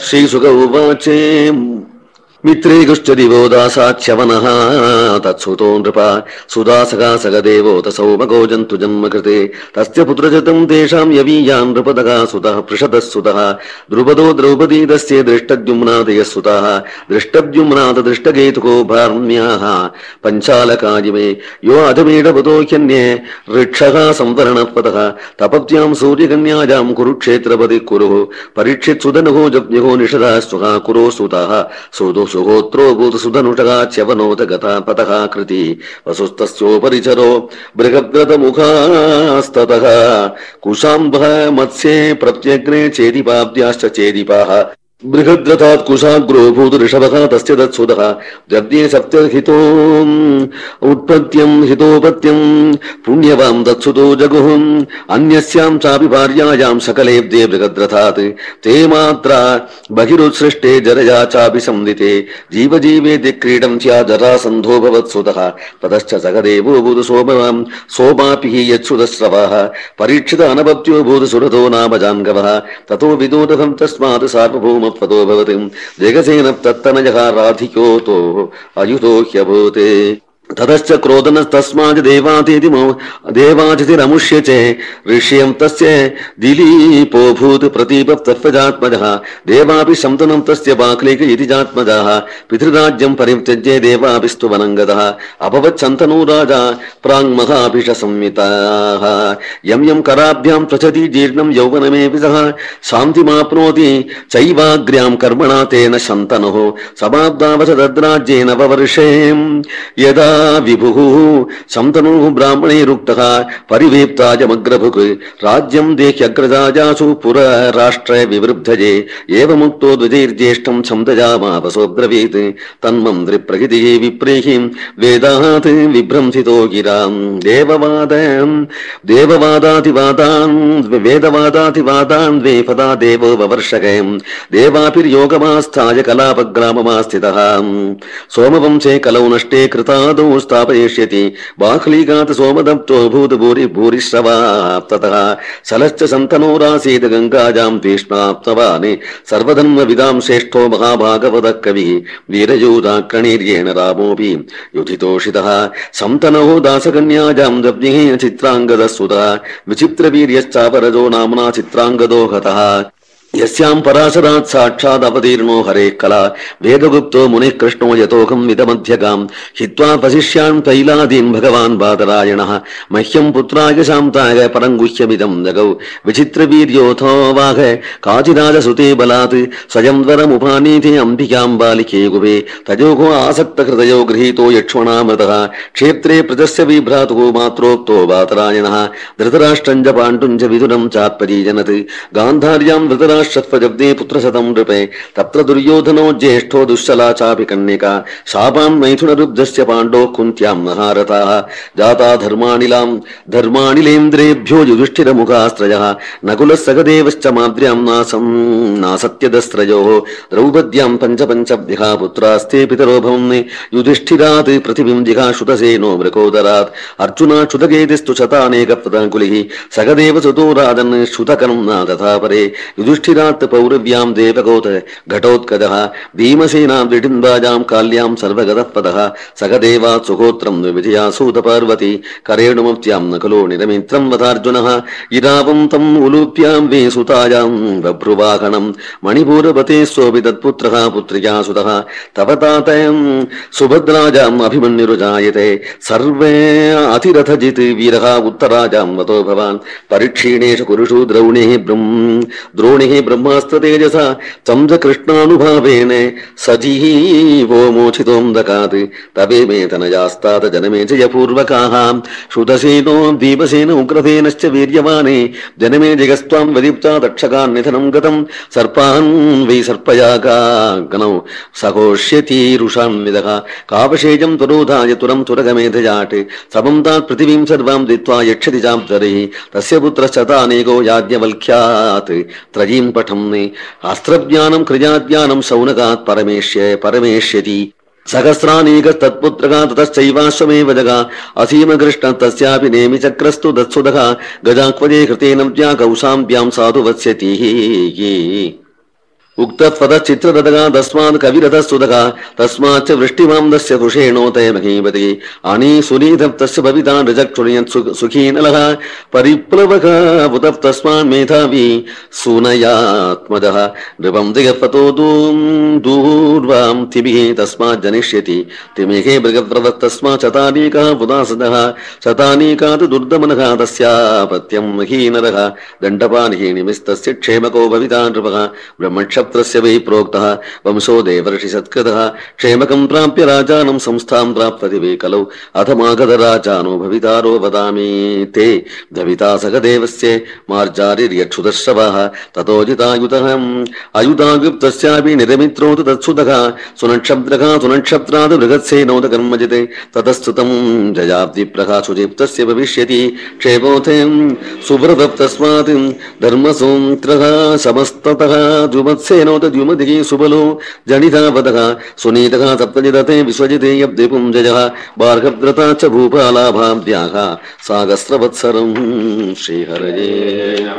श्रीसुक उवाच मित्रे गुश्चदिवो दासाच्यवनः तत्सुतो नृप सुदासका सगदेवोऽत सौमको जन्तु जन्म कृते तस्य पुत्रजतं तेषां यवीयान् नृपदगा सुतः पृषदः सुतः द्रुपदो द्रौपदी तस्य दृष्टद्युम्नादयः सुतः दृष्टद्युम्नाद दृष्टकेतुको भार्म्याः पञ्चालकाजिमे यो अधमेढपदो ह्यन्ये ऋक्षः संवरणपदः तपत्यां सूर्यकन्यायां कुरुक्षेत्रपदि कुरुः परीक्षित् सुदनुः जप्युः निषदः स्वः कुरो सुतः सुदो सुहोत्रो भूत सुधनुषगा च्यवनोत गता पतः कृति वसुस्तस्योपरिचरो बृहद्रथमुखास्ततः कुशाम्बः मत्स्ये प्रत्यग्ने चेदिपाब्द्याश्च चेदिपाः बृहद्रथात् कुशाग्रो भूत ऋषभः तस्य तत्सुतः जब्दे सप्तहितो उत्पत्त्यं हितोपत्यं पुण्यवां तत्सुतो जगुः अन्यस्यां चापि भार्यायां सकलेब्दे बृहद्रथात् ते मात्रा बहिरुत्सृष्टे जरया चापि संविते जीवजीवेति क्रीडं स्या जरासन्धो भवत्सुतः ततश्च सगदेवो भूत सोमापि यत्सुतस्रवः परीक्षित अनपत्यो भूत सुरतो नाम जान्गवः ततो विदोदहं तस्मात् सार्वभौम पदो भवति जगसेन तत्तनयः राधिकोतो अयुतो ह्यभूते ततश्च क्रोधनस्तस्मात् देवातिथिरमुष्य च ऋष्यं तस्य दिलीपो भूत प्रतीपस्तत्त्वजात्मजः देवापि शन्तनं तस्य बाक्लीक इति जात्मजः पितृराज्यं परित्यज्य देवापि स्तुवनङ्गतः अभवत् शन्तनो राजा प्राङ्महाभिषसंहिताः यं यं कराभ्यां प्रचति जीर्णं यौवनमेऽपि सः शान्तिमाप्नोति चैवाग्र्यां कर्मणा तेन शन्तनुः समाब्दावसदद्राज्येन ववर्षे यदा विभुः शन्तनुः ब्राह्मणैरुक्तः परिवेप्तायमग्रभुक् राज्यं देह्यग्रजाजासु पुरराष्ट्रे विवृद्धजे एवमुक्तो द्विजैर्ज्येष्ठं शब्दजामापसोऽब्रवीत् तन्मन्त्रिप्रकृतिः विप्रैः वेदात् विभ्रंसितो गिराम् वेदवादातिवादान् द्वेफदा देवो ववर्षकम् देवाभिर्योगमास्थाय कलापग्राममास्थितः सोमवंशे कलौ नष्टे कृतादौ स्थापयिष्यति बाह्लीकात् सोमदत्तो भूरिश्रवाप्ततः सलश्च शन्तनोरासीत् गङ्गाजां भीष्माप्तवान् सर्वधर्मविदां श्रेष्ठो महाभागवतः कविः वीरयोधाक्रणीर्येण रामोऽपि युधितोषितः शन्तनोः दासकन्याजां दब्धिः चित्राङ्गदः सुतः विचित्रवीर्यश्चापरजो नाम्ना चित्राङ्गदो हतः यस्यां पराशरात् साक्षात् अवतीर्णो हरेः कला वेदगुप्तो मुनिः कृष्णो यतोऽहं विदमध्यगां हित्वा वसिष्यान् तैलादीन् भगवान् बादरायणः मह्यं पुत्राय शान्ताय परं गुह्यमिदं जगौ विचित्रवीर्योऽथोवाह काचिराजसुते बलात् स्वयं वरमुपानीते अम्बिकां बालिके गुवे तजोगो आसक्तहृदयो गृहीतो यक्ष्मणामृतः क्षेत्रे प्रजस्य विभ्रातुः मात्रोक्तो बादरायणः धृतराष्ट्रं च पाण्डुं च विदुरं चात्परीजनत् गान्धार्यां धृतराष्ट्र शतपजब्दे पुत्रशतं नृपे तत्र दुर्योधनो ज्येष्ठो दुश्शला चापि कन्यका शापान् मैथुनरुब्धस्य पाण्डोः कुन्त्यां महारथाः जाता धर्माणिलेन्द्रेभ्यो युधिष्ठिरमुखास्त्रयः नकुलः सगदेवश्च माद्र्यां नासत्यदस्त्रयोः द्रौपद्यां पञ्चभ्यः पुत्रास्ते पितरो भवन् युधिष्ठिरात् पृथिवीं जिघाश्रुतसेनो मृकोदरात् अर्जुनाच्युतकेतिस्तु शतानेकप्रदाकुलिः सगदेव सुतो राजन् श्रुतकर्म्ना तथा परे युधिष्ठिरात् पौरव्यां देवगोत घटोत्कजः भीमसेनां दिडिम्बाजां काल्यां सर्वगतः पदः सगदेवात् सुहोत्रं विजयासूत पार्वती करेणुमप्त्यां नकुलो निरमित्रं वदार्जुनः इरावं तम् उलूप्यां वेसुतायां बभ्रुवाहनं मणिपूरपते सोऽपि तत्पुत्रः पुत्र्या सुतः तपतातयं सुभद्राजाम् अभिमन्युरुजायते सर्वे अतिरथजित् वीरः उत्तराजां वतो भवान् परीक्षीणेषु कुरुषु द्रोणिः ब्रह्मास्त्र तेजसा चंस कृष्णानुभावेन सजीवो मोचितोऽन्धकात् तवे मे तनयास्तात जनमे जयपूर्वकाः श्रुतसेनो दीपसेन उग्रसेनश्च वीर्यवाने जनमे जगस्त्वां वदीप्ता दक्षकान् निधनं गतं सर्पान् वै सर्पयागाग्नौ सघोष्यतीरुषान्विदः कावशेजं त्वरोधाय तुरं तुरगमेधजाट् समं तात् पृथिवीं सर्वां दित्वा यक्षति चाब्दरिः तस्य पुत्रश्चतानेको याज्ञवल्क्यात् त्रयीं पठन् अस्त्रज्ञानं क्रियाज्ञानं शौनकात् परमेष्यति सहस्रानीक तत्पुत्रः ततश्चैवाश्वमेव जगा असीम कृष्ण तस्यापि नेमि चक्रस्तु दत्सुदः गजाक्वजे कृतेन कौशाम्ब्यां साधु वत्स्यति उक्तत्पदचित्रदगा तस्मात् कविरथस्तुदगा तस्माच्च वृष्टिमान्दस्य कुशेणोतय महीपति अणी सुनीतप्तस्य भविता नृजक्षुणयत् सुखीनलः परिप्लवः बुधः तस्मान् मेधावी सूनयात्मजः नृपं दिगपतो दूर्वां तिभिः तस्मात् जनिष्यति तिमिहे मृगप्रवत्तस्मात् शतानीकः पुदासदः शतानीकात् दुर्दमनः तस्यापत्यं महीनरः दण्डपानिः निमिस्तस्य क्षेमको भविता नृपः ब्रह्मक्ष वै प्रोक्तः वंशो देवर्षि सत्कृतः क्षेमकं प्राप्य राजानं संस्थां प्राप्तति वै कलौ अथमागतराजानो भवितारो वदामि ते भविता सखदेवस्य मार्जारिर्यक्षुदश्रवः ततोजितायुतः अयुतायुक्तस्यापि निरमित्रो तु तत्सुतः सुनक्षत्रः सुनक्षत्रात् बृहत्सेनोद कर्मजिते ततस्तुतं जयाब्धिप्रः सुजिप्तस्य भविष्यति क्षेमोऽथे सुव्रतः तस्मात् धर्मसूत्रः समस्ततः द्युमत्सेनोत द्युमतिः सुबलो जनितावतः सुनीतः सप्तजिदते विश्वजिते यब्धिपुञ्जयः बार्हद्रता च भूपालाभाभ्याः सागस्रवत्सरं श्रीहरये